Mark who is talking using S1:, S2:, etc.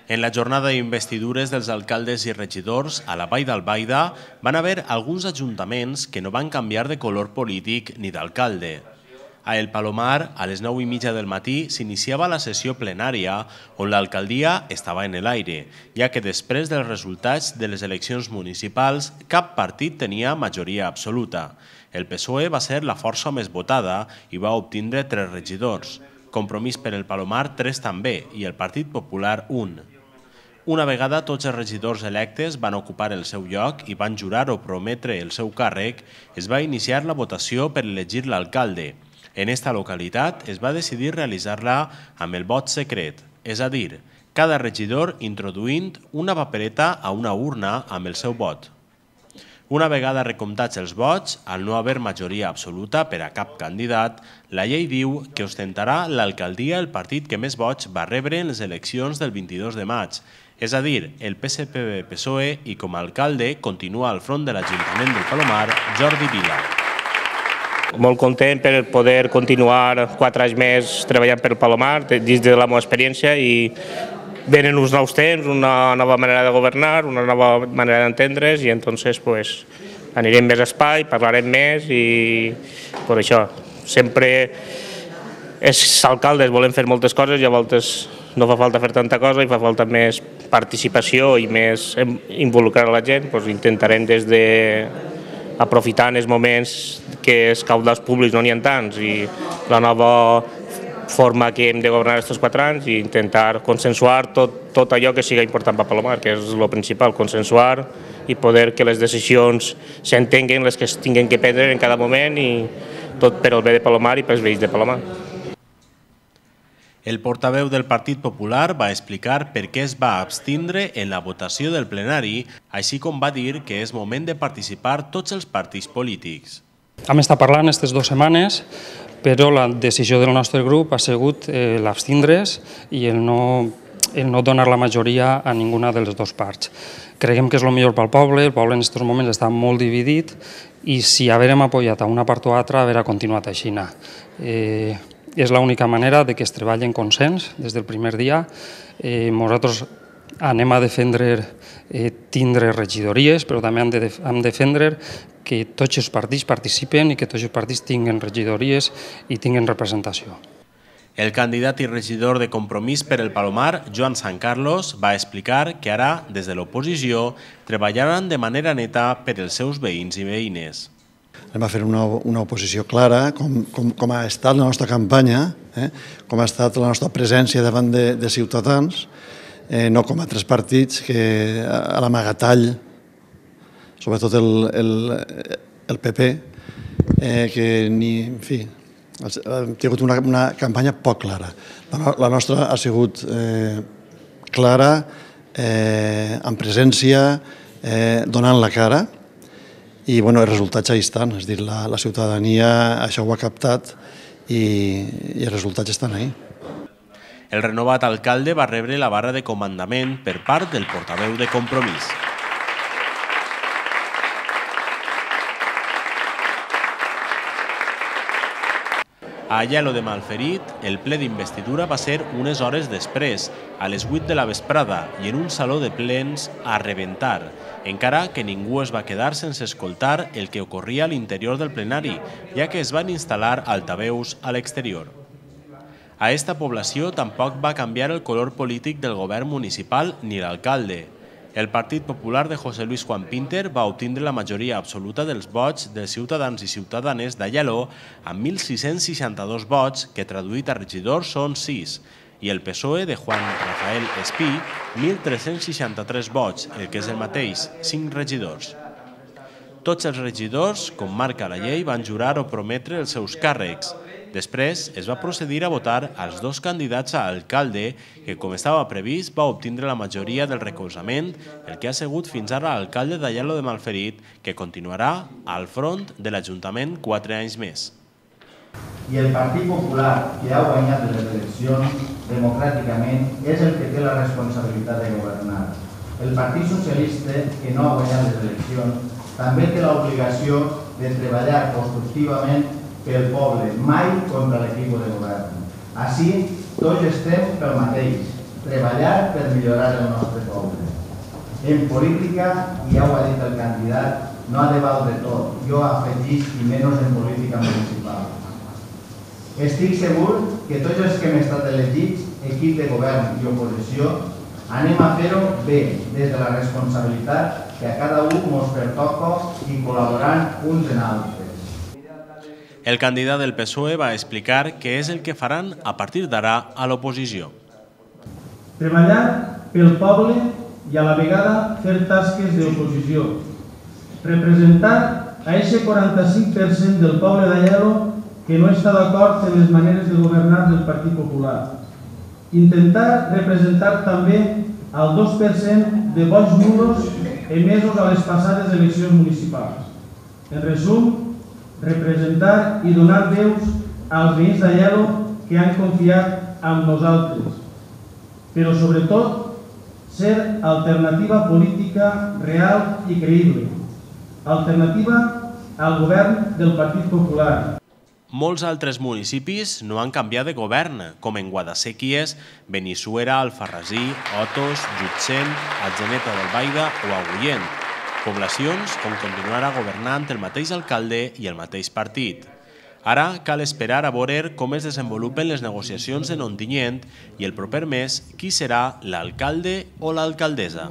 S1: En la jornada d'investidures dels alcaldes i regidors a la Vall d'Albaida van haver alguns ajuntaments que no van canviar de color polític ni d'alcalde. A El Palomar, a les 9:30 del matí, s'iniciava la sessió plenària on l'alcaldia estava en l'aire, ja que després dels resultats de les eleccions municipals cap partit tenia majoria absoluta. El PSOE va ser la força més votada i va obtindre 3 regidors. Compromís per el Palomar 3 també i el Partit Popular 1. Una vegada tots els regidors electes van ocupar el seu lloc i van jurar o prometre el seu càrrec, es va iniciar la votació per elegir l'alcalde. En esta localitat es va decidir realitzar-la amb el vot secret, és a dir, cada regidor introduint una papereta a una urna amb el seu vot. Una vegada recomptats els vots, al no haver majoria absoluta per a cap candidat, la llei diu que ostentarà l'alcaldia el partit que més vots va rebre en les eleccions del 22 de maig, és a dir, el PSPV-PSOE, i com a alcalde continua al front de l'Ajuntament del Palomar Jordi Vila.
S2: Molt content per poder continuar 4 anys més treballant per el Palomar, dins de la meva experiència, i venen uns nous temps, una nova manera de governar, una nova manera d'entendre's, i entonces anirem més espai, parlarem més, i per això sempre els alcaldes volem fer moltes coses i a voltes no fa falta fer tanta cosa i fa falta més participació i més involucrar la gent. Intentarem des de aprofitar els moments que els caudals públics no n'hi ha tants i la nova forma que hem de governar aquests 4 anys i intentar consensuar tot allò que sigui important per Palomar, que és el principal, consensuar i poder que les decisions s'entenguen, les que es tinguin que prendre en cada moment, i tot per al bé de Palomar i pels veïns de Palomar.
S1: El portaveu del Partit Popular va explicar per què es va abstindre en la votació del plenari, així com va dir que és moment de participar tots els partits polítics.
S3: Hem estat parlant aquestes 2 setmanes, però la decisió del nostre grup ha sigut l'abstindre's i el no donar la majoria a ninguna de les 2 parts. Creiem que és el millor pel poble, el poble en aquests moments està molt dividit i si haguérem apoyat a una part o altra, haver continuat així. És l'única manera que es treballi en consens des del primer dia. Nosaltres anem a defendre tindre regidories, però també hem de defendre que tots els partits participen i que tots els partits tinguin regidories i tinguin representació.
S1: El candidat i regidor de Compromís per el Palomar, Joan San Carlos, va explicar que ara, des de l'oposició, treballaran de manera neta per als seus veïns i veïnes.
S4: Anem a fer una oposició clara, com ha estat la nostra campanya, com ha estat la nostra presència davant de ciutadans, no com altres partits que a l'amagatall, sobretot el PP, que en fi, ha tingut una campanya poc clara. La nostra ha sigut clara, amb presència, donant la cara, i els resultats ja hi estan, és a dir, la ciutadania això ho ha captat i els resultats estan ahí.
S1: El renovat alcalde va rebre la barra de comandament per part del portaveu de Compromís. A Aielo de Malferit, el ple d'investidura va ser unes hores després, a les 8 de la vesprada, i en un saló de plens a rebentar, encara que ningú es va quedar sense escoltar el que ocorria a l'interior del plenari, ja que es van instal·lar altaveus a l'exterior. A esta població tampoc va canviar el color polític del govern municipal ni l'alcalde. El Partit Popular de José Luis Juan Pinter va obtindre la majoria absoluta dels vots dels ciutadans i ciutadanes d'Aielo amb 1.662 vots, que traduït a regidors són 6, i el PSOE de Juan Rafael Espí, 1.363 vots, el que és el mateix, 5 regidors. Tots els regidors, com marca la llei, van jurar o prometre els seus càrrecs. Després es va procedir a votar als 2 candidats a alcalde que, com estava previst, va obtindre la majoria del recolzament, el que ha sigut fins ara l'alcalde d'Aielo de Malferit, que continuarà al front de l'Ajuntament 4 anys més.
S5: I el Partit Popular, que ha guanyat les eleccions democràticament, és el que té la responsabilitat de governar. El Partit Socialista, que no ha guanyat les eleccions, també té l'obligació de treballar constructivament pel poble, mai contra l'equip de govern. Així, tots estem pel mateix. treballar per millorar el nostre poble. En política, i ja ho ha dit el candidat, no ha de valdre tot, jo afegís i menys en política municipal. Estic segur que tots els que hem estat elegits, equip de govern i oposició, anem a fer-ho bé, des de la responsabilitat que a cada un ens pertoca i col·laborant uns en altres.
S1: El candidat del PSOE va explicar què és el que faran a partir d'ara a l'oposició.
S6: Treballar pel poble i a la vegada fer tasques d'oposició. Representar a aquest 45% del poble d'Aielo que no està d'acord en les maneres de governar del Partit Popular. Intentar representar també el 2% de vots nulos emesos a les passades eleccions municipals. En resum, representar i donar veus als veïns d'Aielo que han confiat en nosaltres, però sobretot ser alternativa política real i creïble, alternativa al govern del Partit Popular.
S1: Molts altres municipis no han canviat de govern, com en Guadasséquies, Benissuera, Alfarrasí, Otos, Llutxent, Atzeneta d'Albaida o Agullent, poblacions on continuarà governant el mateix alcalde i el mateix partit. Ara cal esperar a veure com es desenvolupen les negociacions en Ontinyent i el proper mes qui serà l'alcalde o l'alcaldessa.